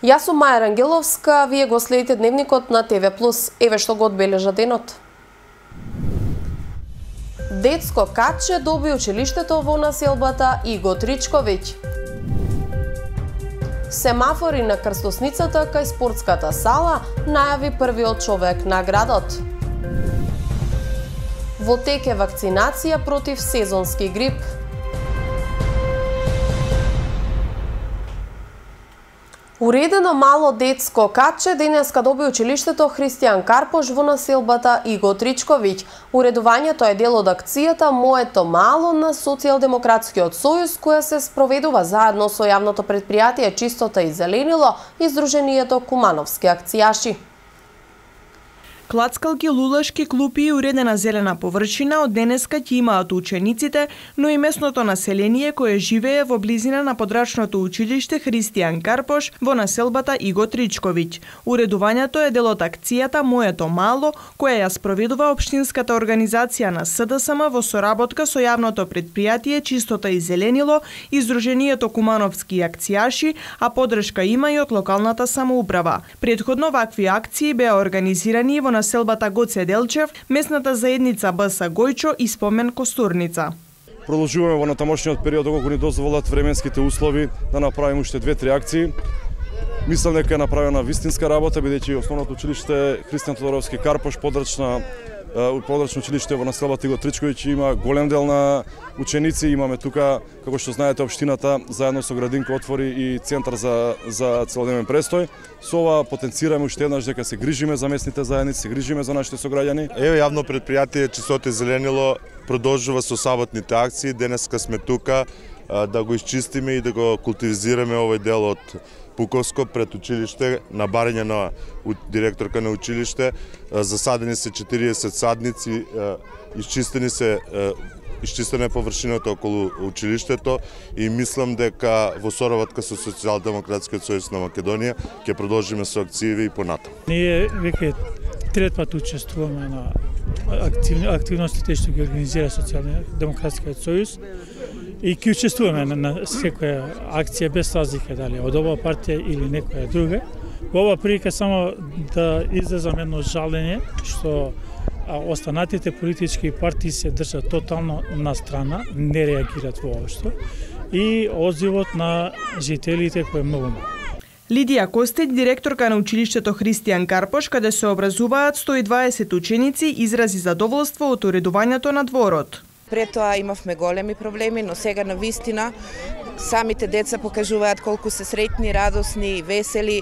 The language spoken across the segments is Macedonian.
Јас сум Маја Рангеловска, вие го следите дневникот на ТВ+. Еве што го одбележа денот. Детско каче доби училиштето во населбата Иго Тричковиќ. Семафори на крстосницата кај спортската сала најави првиот човек на градот. Во тек е вакцинација против сезонски грип. Уредено мало детско каче денеска доби училиштето Христијан Карпош во населбата Иго Тричковиќ. Уредувањето е дел од акцијата Моето мало на Социјалдемократскиот сојуз, која се спроведува заедно со јавното претпријатие Чистота и зеленило и Сдруженијето Кумановски акцијаши. Клацкалки, лулашки клупи и уредена зелена површина од денеска ќе имаат учениците, но и местното население кое живее во близина на подрачното училиште Христијан Карпош во населбата Иго Тричковиќ. Уредувањето е дел од акцијата Моето мало, која ја спроведува општинската организација на СДСМ во соработка со јавното претпријатие Чистота и зеленило и Сдруженијето Кумановски акцијаши, а поддршка има и од локалната самоуправа. Претходно вакви акции беа организирани во населбата Гоце Делчев, местната заедница БС Гојчо и Спомен Костурница. Продолжуваме во натамошниот период доколку ни дозволат временските услови да направиме уште 2-3 акции. Мислам дека е направена вистинска работа, бидејќи основното училиште Христијан Тодоровски Карпош, подрачно училиште во населбата Иго Тричковиќ има голем дел на ученици. Имаме тука, како што знаете, општината заедно со градинка отвори и центар за целодневен престој. Со ова потенцираме уште еднаш дека се грижиме за местните заедници, се грижиме за нашите сограѓани. Еве јавно претпријатие Чистота и зеленило продолжува со саботните акции. Денеска сме тука да го исчистиме и да го култивизираме овој дел од Пуковско пред училиште, на барање на директорка на училиште. Засадени се 40 садници, изчистена е површината околу училиштето и мислам дека во соработка со Социјалдемократскиот сојуз на Македонија ќе продолжиме со акциите и понатаму. Ние веќе трет пат учествуваме на активностите што ги организира Социјалдемократскиот сојуз и ќе учествуваме на секоја акција без разлика дали од оваа партија или некоја друга. Во оваа прилика само да изразам едно жалење што останатите политички партии се држат тотално на страна, не реагираат воопшто и одзивот на жителите кој е многу мал. Лидија Костеќ, директорка на училиштето Христијан Карпош, каде се образуваат 120 ученици, изрази задоволство од уредувањето на дворот. Пред тоа имавме големи проблеми, но сега на вистина самите деца покажуваат колку се среќни, радосни и весели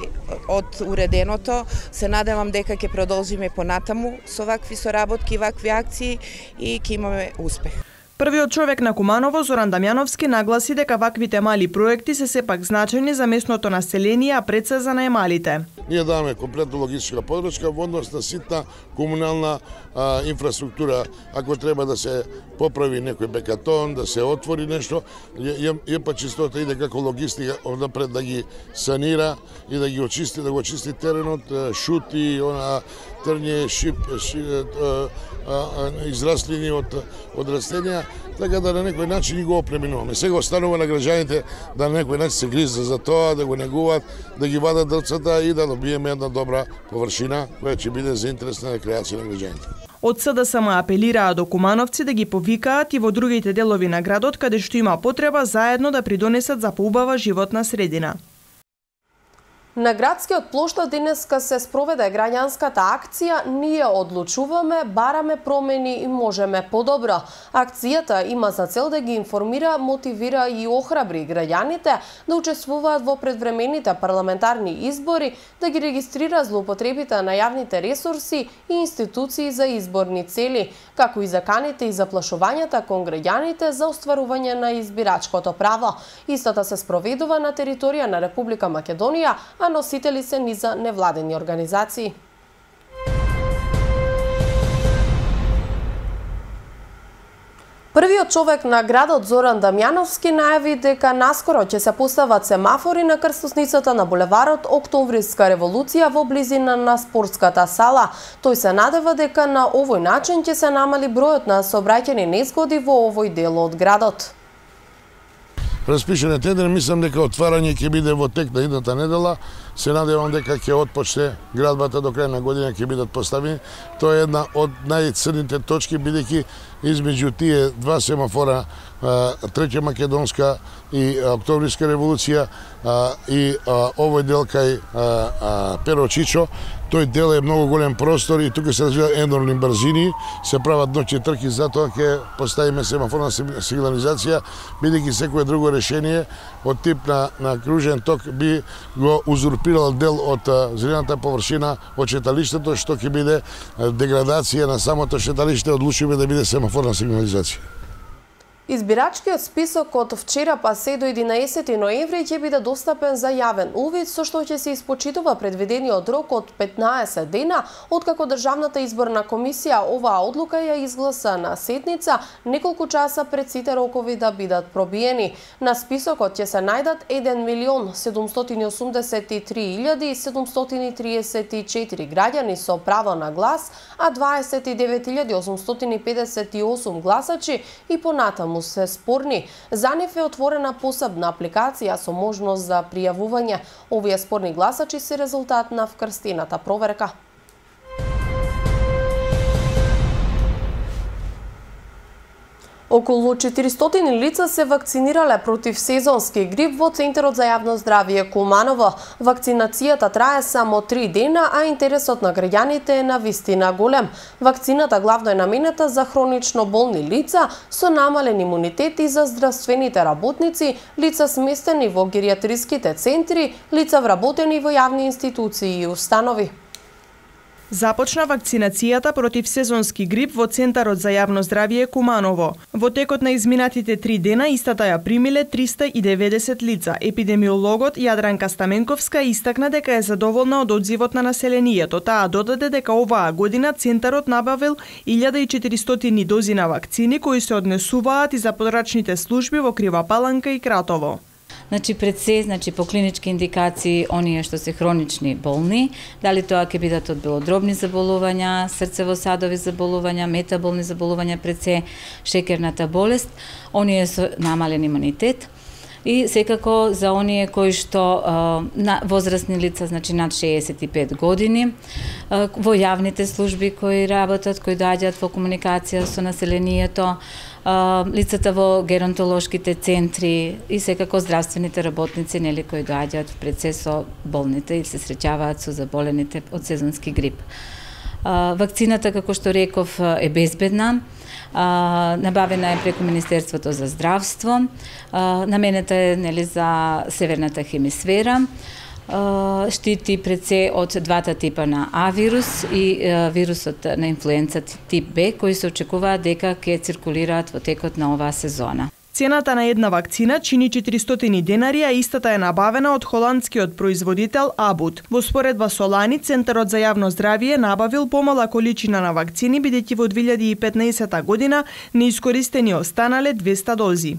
од уреденото. Се надевам дека ќе продолжиме понатаму со вакви соработки, вакви акции и ќе имаме успех. Првиот човек на Куманово, Зоран Дамјановски, нагласи дека ваквите мали проекти се сепак значајни за местното население, а пред се за најмалите. Ние даваме комплетна логистичка подршка во однос на ситна комунална инфраструктура. Ако треба да се поправи некој бекатон, да се отвори нешто, ЕПА Чистота иде како логистика однапред да ги санира и да ги очисти, да го очисти теренот, шути, трње, израслини од растенија, така да на некој начин ги го опреминуваме. Сега останува на граѓаните да на некој начин се грижат за тоа, да го негуваат, да ги вадат дрцата и да добиеме една добра површина која ќе биде за интерес на рекреација на граѓаните. Од СДСМ апелираа до кумановци да ги повикаат и во другите делови на градот каде што има потреба заедно да придонесат за поубава животна средина. На градскиот плоштад денеска се спроведе граѓанската акција Ние одлучуваме, бараме промени и можеме подобро. Акцијата има за цел да ги информира, мотивира и охрабри граѓаните да учествуваат во предвремените парламентарни избори, да ги регистрира злоупотребите на јавните ресурси и институции за изборни цели, како и заканите и заплашувањата кон граѓаните за остварување на избирачкото право. Истата се спроведува на територија на Република Македонија, а носители се низа невладени организации. Првиот човек на градот Зоран Дамјановски најави дека наскоро ќе се постават семафори на крстосницата на булеварот Октомвриска револуција во близина на спортската сала. Тој се надева дека на овој начин ќе се намали бројот на сообраќајни незгоди во овој дел од градот. распишен е тендер, мислам дека отварање ќе биде во тек на идната недела. Се надевам дека ќе отпочне градбата до крај на година ќе бидат поставени. Тоа е една од најцрните точки, бидејќи измеѓу тие два семафора, Треќа Македонска и Октобриска револуција и овој дел кај Перо Чичо, тој дел е многу голем простор и тука се развиваат енормни брзини, се прават ноќни трки, затоа ќе поставиме семафорна сигнализација, бидејќи секое друго решение од тип на кружен ток би го узурпирал дел од зелената површина од шеталиштето, што ќе биде деградација на самото шеталиште, одлучивме да биде семафорна сигнализација. Избирачкиот список од вчера па се до 11 ноември ќе биде достапен за јавен увид, со што ќе се испочитува предвидениот рок од 15 дена, откако Државната изборна комисија оваа одлука ја изгласа на седница, неколку часа пред сите рокови да бидат пробиени. На списокот ќе се најдат 1.783.734 граѓани со право на глас, а 29.858 гласачи и понатаму се спорни. За нив е отворена посебна апликација со можност за пријавување. Овие спорни гласачи се резултат на вкрстената проверка. Околу 400 лица се вакцинирале против сезонски грип во Центарот за јавно здравје Куманово. Вакцинацијата трае само 3 дена, а интересот на граѓаните е навистина голем. Вакцината главно е наменета за хронично болни лица со намален имунитет и за здравствените работници, лица сместени во гериатриските центри, лица вработени во јавни институции и установи. Започна вакцинацијата против сезонски грип во Центарот за јавно здравје Куманово. Во текот на изминатите 3 дена истата ја примиле 390 лица. Епидемиологот Јадранка Стаменковска истакна дека е задоволна од одзивот на населението. Таа додаде дека оваа година Центарот набавил 1400 дози на вакцини кои се однесуваат и за подрачните служби во Крива Паланка и Кратово. Пред се, по клинички индикации, оние што се хронични болни, дали тоа ќе бидат од белодробни заболувања, срцево-садови заболувања, метаболни заболувања, пред се шекерната болест, оние со намален имунитет. И секако за оние кои што возрастни лица, над 65 години, во јавните служби кои работат, кои доаѓаат во комуникација со населението, лицата во геронтолошките центри и секако здравствените работници, кои доаѓаат пред се со болните и се среќаваат со заболените од сезонски грип. Вакцината, како што реков, е безбедна. Набавена е преку Министерството за здравство, наменета е за северната хемисфера, штити пред се од двата типа на А-вирус и вирусот на инфлуенца тип Б, кои се очекуваат дека ќе циркулираат во текот на оваа сезона. Цената на една вакцина чини 400 денари, а истата е набавена од холандскиот производител Абут. Во споредба со лани, Центарот за јавно здравје набавил помала количина на вакцини, бидејќи во 2015 година неискористени останале 200 дози.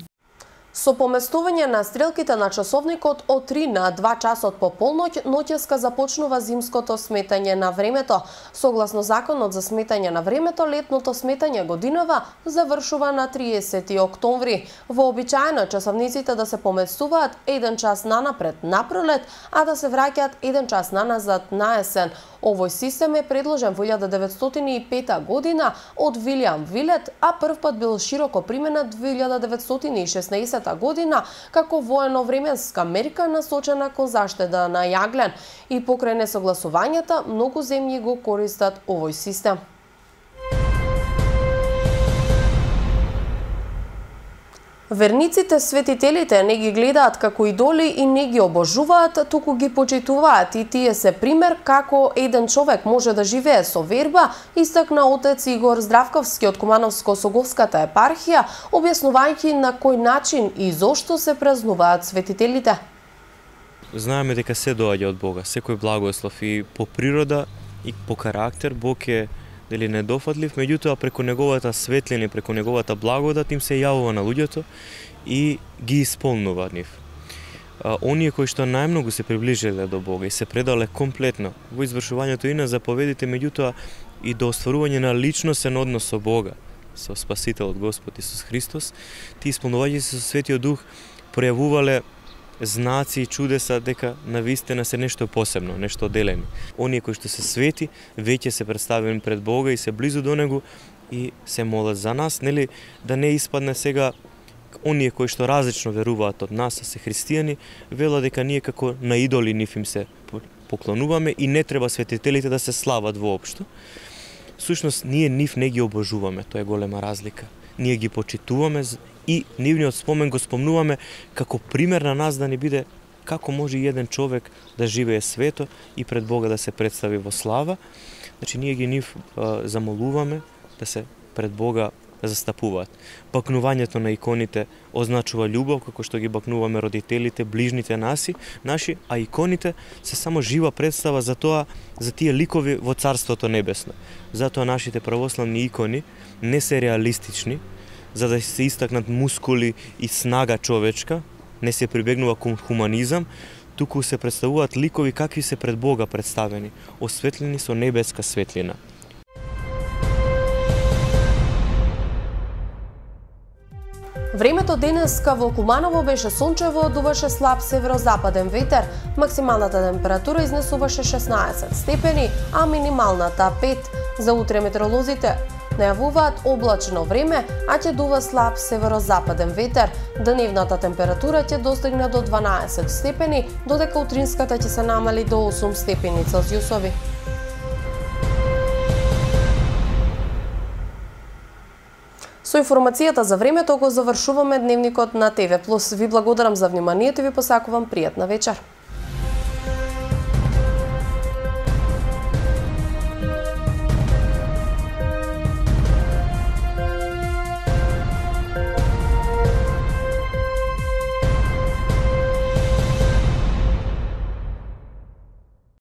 Со поместување на стрелките на часовникот од 3 на 2 часот по полноќ, ноќеска започнува зимското сметање на времето. Согласно законот за сметање на времето, летното сметање годинава завршува на 30 октомври. Вообичаено часовниците да се поместуваат 1 час нанапред на пролет, а да се враќаат 1 час наназад на есен. Овој систем е предложен во 1905 година од Вилијам Вилет, а првпат бил широко применет 1916 година како воено-временска мерка насочена кон заштеда на јаглен. И покрај несогласувањата, многу земји го користат овој систем. Верниците, светителите не ги гледаат како идоли и не ги обожуваат, туку ги почитуваат, и тие се пример како еден човек може да живее со верба, истакна отец Игор Здравковски од Кумановско-Соговската епархија, објаснувајќи на кој начин и зошто се празнуваат светителите. Знаеме дека се доаѓа од Бога, секој благослов и по природа и по карактер Бог е недофатлив, меѓутоа преку неговата светлина, преку неговата благодат им се јавува на луѓето и ги исполнува нив. Оние кои што најмногу се приближиле до Бога и се предале комплетно во извршувањето и на заповедите, меѓутоа и до остварување на личностен однос со Бога, со Спасителот Господ Исус Христос, тие исполнувајќи се со Светиот Дух, пројавувале знаци и чудеса дека навистина се нешто посебно, нешто оделено. Оние кои што се свети, веќе се представени пред Бога и се близу до Него и се молат за нас, нели, да не испадне сега оние кои што различно веруваат од нас, а се христијани, велат дека ние како на идоли нив им се поклонуваме и не треба светителите да се слават воопшто. Сушност, ние нив не ги обожуваме, тоа е голема разлика. Ние ги почитуваме и нивниот спомен го спомнуваме како пример на нас да ни биде како може еден човек да живее свето и пред Бога да се представи во слава. Значи, ние ги нив замолуваме да се пред Бога застапуваат. Бакнувањето на иконите означува љубов, како што ги бакнуваме родителите, ближните наши, а иконите се само жива представа за тоа, за тие ликови во Царството Небесно. Затоа нашите православни икони не се реалистични, за да се истакнат мускули и снага човечка, не се прибегнува кон хуманизам, туку се представуваат ликови какви се пред Бога представени, осветлени со небеска светлина. Времето денеска во Куманово беше сончево, дуваше слаб северозападен ветер, максималната температура изнесуваше 16 степени, а минималната 5. За утре метеоролозите најавуваат облачно време, а ќе дува слаб северозападен ветер. Дневната температура ќе достигне до 12 степени, додека утринската ќе се намали до 8 степени Целзиусови. Со информацијата за времето го завршуваме дневникот на ТВ+. Ви благодарам за вниманието и ви посакувам пријатна вечер.